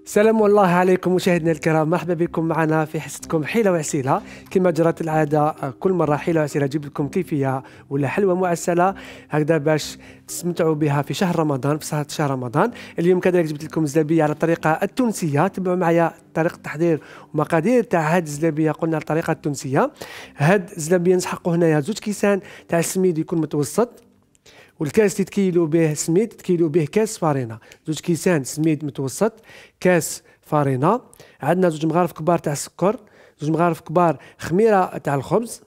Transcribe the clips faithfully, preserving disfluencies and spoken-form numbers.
سلام الله عليكم مشاهدينا الكرام، مرحبا بكم معنا في حصتكم حيلة وعسيلة. كما جرت العادة كل مرة حيلة وعسيلة جيب لكم كيفية ولا حلوة معسلة هكذا باش تستمتعوا بها في شهر رمضان، في سهرة شهر رمضان. اليوم كذلك جبت لكم زلابية على الطريقة التونسية. تبعوا معايا طريقة التحضير ومقادير تاع هاد الزلابية. قلنا الطريقة التونسية. هاد الزلابية نسحقوا هنايا زوج كيسان تاع السميد يكون متوسط، والكاس اللي تكيلوا به سميد تكيلوا به كاس فارينة. زوج كيسان سميد متوسط، كاس فارينة. عندنا زوج مغارف كبار تاع السكر، زوج مغارف كبار خميرة تاع الخبز،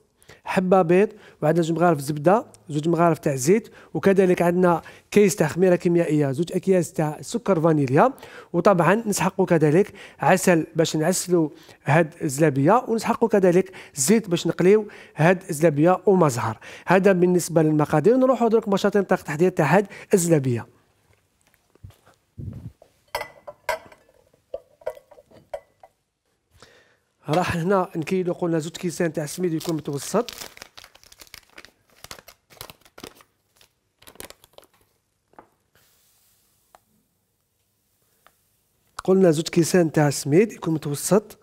حبة بيض، وعندنا زوج مغارف زبدة، زوج مغارف تاع زيت، وكذلك عندنا كيس تاع خميرة كيميائية، زوج أكياس تاع سكر فانيليا. وطبعا نسحقوا كذلك عسل باش نعسلوا هاد الزلابية، ونسحقوا كذلك زيت باش نقليو هاد الزلابية وما زهر. هذا بالنسبة للمقادير. نروحوا درك مباشرة طريقة التحضير تاع هاد الزلابية. راح هنا نكيلو قلنا زوج كيسان تاع السميد يكون متوسط، قلنا زوج كيسان تاع السميد يكون متوسط.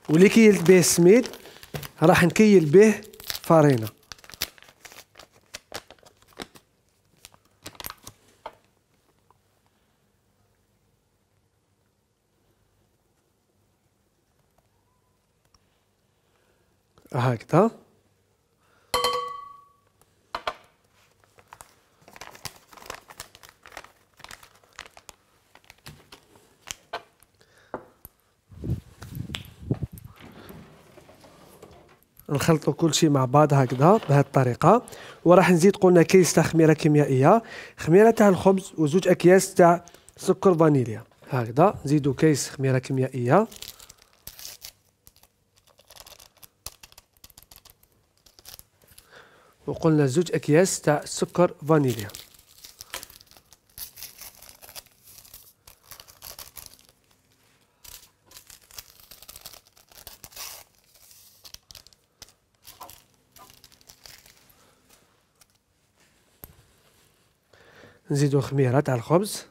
واللي كيلت به السميد راح نكيل به فارينة. هكذا. نخلطوا كل شيء مع بعض هكذا بهذه الطريقة. وراح نزيد قلنا كيس تاع خميرة كيميائية، خميرة تاع الخبز، وزوج أكياس تاع سكر فانيليا. هكذا نزيدوا كيس خميرة كيميائية، وقلنا زوج أكياس تاع سكر فانيليا. نزيدوا خميرة تاع الخبز،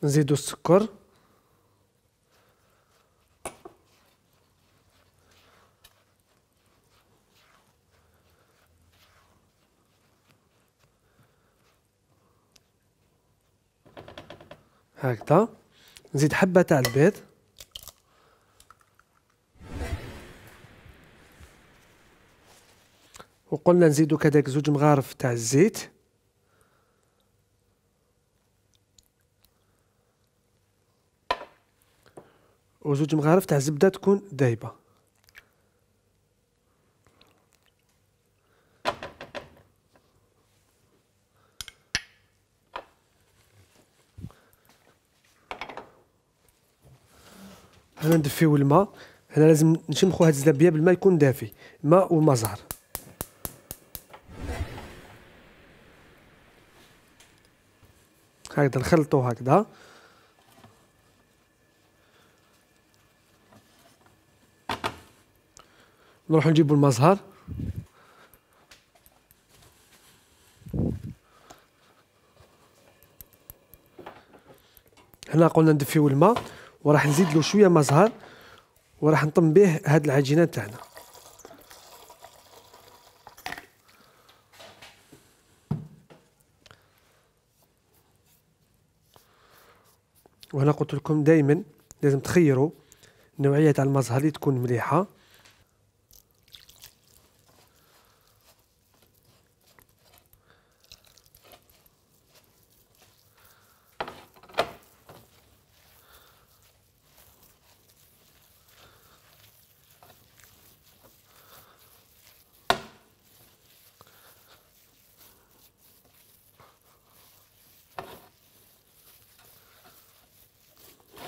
نزيدوا السكر، هكذا. نزيد حبة تاع البيض، وقلنا نزيدوا كذلك زوج مغارف تاع الزيت، وزوج مغارف تاع الزبدة تكون دايبة. هنا ندفيو الماء. هنا لازم نشمخوا هاد الزلابية بالماء يكون دافي، ماء وما زهر. هكذا نخلطوا هكذا. نروحوا نجيبوا الماء زهر، هنا قلنا ندفيو الماء وراح نزيد له شويه ماء زهر، وراح نطم به هاد العجينه تاعنا. وهنا قلت لكم دائما لازم تخيروا نوعيه تاع الماء زهر اللي تكون مليحه.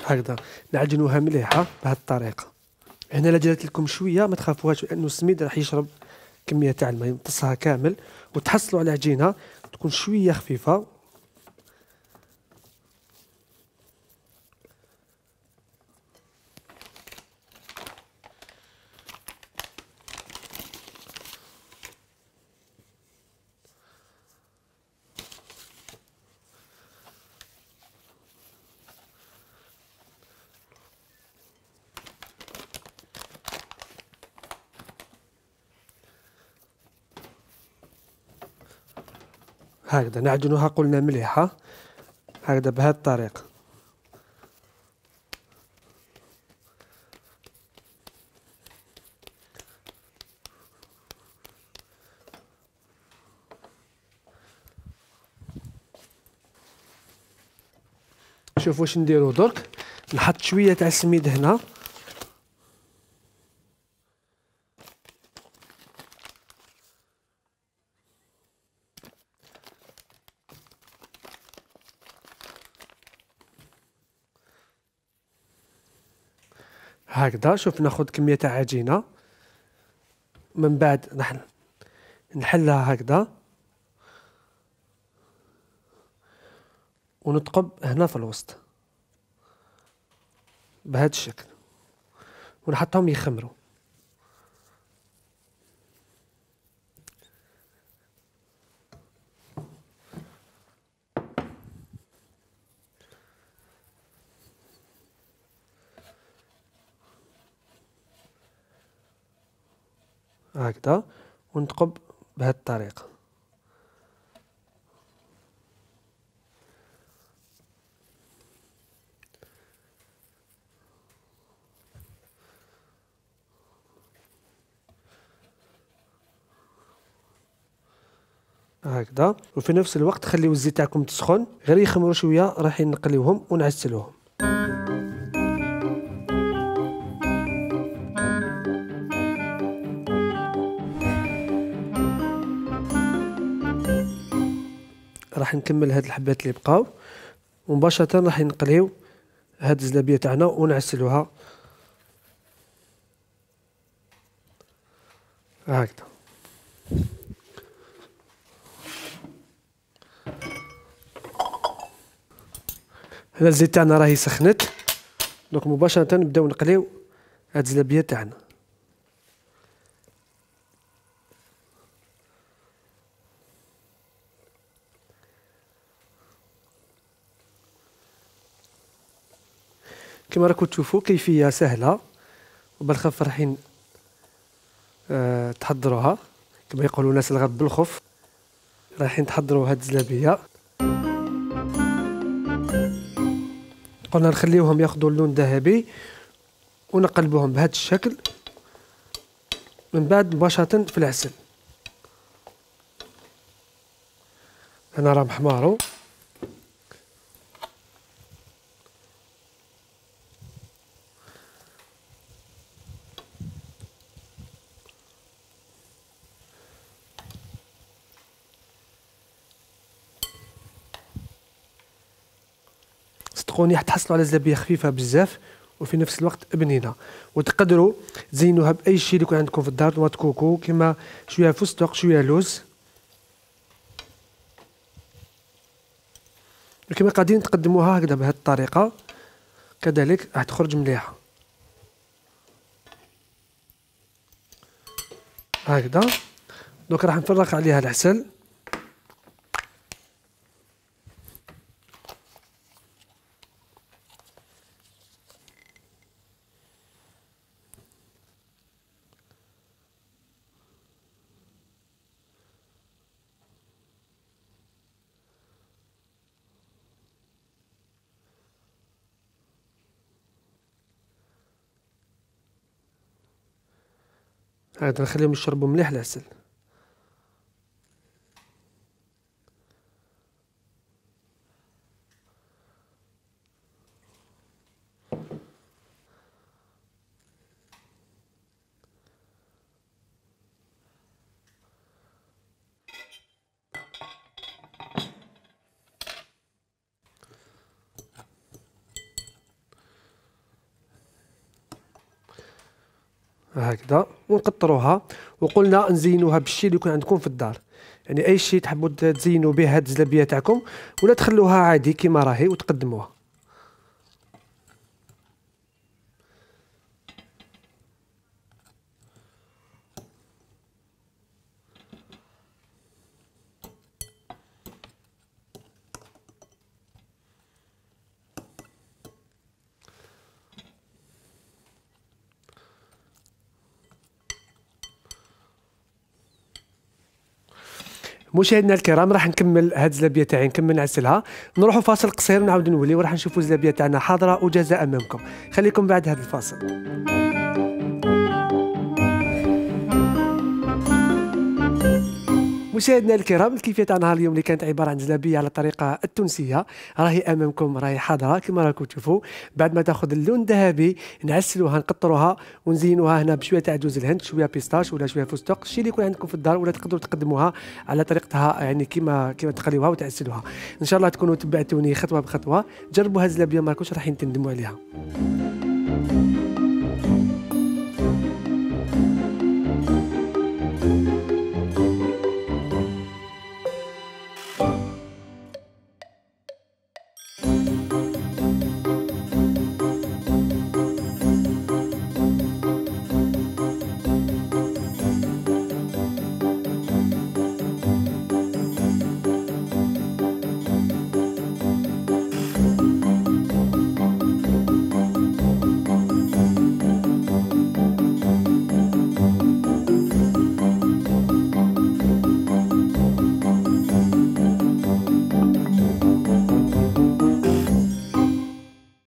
هكذا نعجنوها مليحة بهذه الطريقة. هنا لا جريت لكم شوية ما تخافوهاش، لأنه السميد راح يشرب كميه تاع الماء يمتصها كامل، وتحصلوا على عجينه تكون شويه خفيفه. هكذا نعجنوها قلنا مليحة، هكذا بهذه الطريقة. شوفوا واش نديرو درك، نحط شوية تاع السميد هنا، هكذا. شوف ناخذ كمية تاع عجينة، من بعد نحن نحلها هكذا ونثقب هنا في الوسط بهذا الشكل، ونحطهم يخمروا. هكذا ونثقب بهذه الطريقة. هكذا، وفي نفس الوقت خليو الزيت تاعكم تسخن، غير يخمروا شويه رايحين نقليوهم ونعسلوهم. راح نكمل هاد الحبات اللي بقاو، ومباشره راح نقليو هاد الزلابيه تاعنا ونعسلوها هكذا. هنا الزيت تاعنا راهي سخنت، دونك مباشرة نبداو نقليو هاد الزلابية تاعنا. كما راكم تشوفوا كيفية سهلة وبالخف رايحين أه تحضروها، كما يقولوا الناس الغد بالخف. رايحين تحضروا هاد الزلابية، قلنا نخليوهم ياخذوا اللون ذهبي ونقلبوهم بهذا الشكل، من بعد مباشرة في العسل. هنا راهم حمارو، صدقوني حتحصلوا على زلابية خفيفة بزاف وفي نفس الوقت بنينه. وتقدروا تزينوها باي شيء اللي يكون عندكم في الدار، طماط كوكو كما شويه فستق شويه لوز، وكما قاعدين تقدموها هكذا بهذه الطريقه كذلك راح تخرج مليحه هكذا. دوك راح نفرغ عليها العسل، هذا نخليهم يشربوا مليح العسل. هكذا ونقطروها. وقلنا نزينوها بالشيء اللي يكون عندكم في الدار، يعني اي شيء تحبوا تزينوا به هاد الزلابيه تاعكم، ولا تخلوها عادي كيما راهي وتقدموها. مشاهدينا الكرام، راح نكمل هاد الزلابيه تاعي، نكمل نعسلها، نروحوا فاصل قصير ونعاود نولي وراح نشوفوا الزلابيه تاعنا حاضره وجاهزه امامكم. خليكم بعد هذا الفاصل. مشاهدينا الكرام، الكيفيه تاع نهار اليوم اللي كانت عباره عن زلابيه على الطريقه التونسيه راهي امامكم، راهي حاضره كما راكم تشوفوا. بعد ما تاخذ اللون الذهبي نعسلوها نقطروها ونزينوها هنا بشويه تاع جوز الهند، شويه بيستاش ولا شويه فستق، الشيء اللي يكون عندكم في الدار، ولا تقدروا تقدموها على طريقتها يعني كما كما تخليوها وتعسلوها. ان شاء الله تكونوا تبعتوني خطوه بخطوه، جربوا هذه الزلابيه ما راكوش راح تندموا عليها.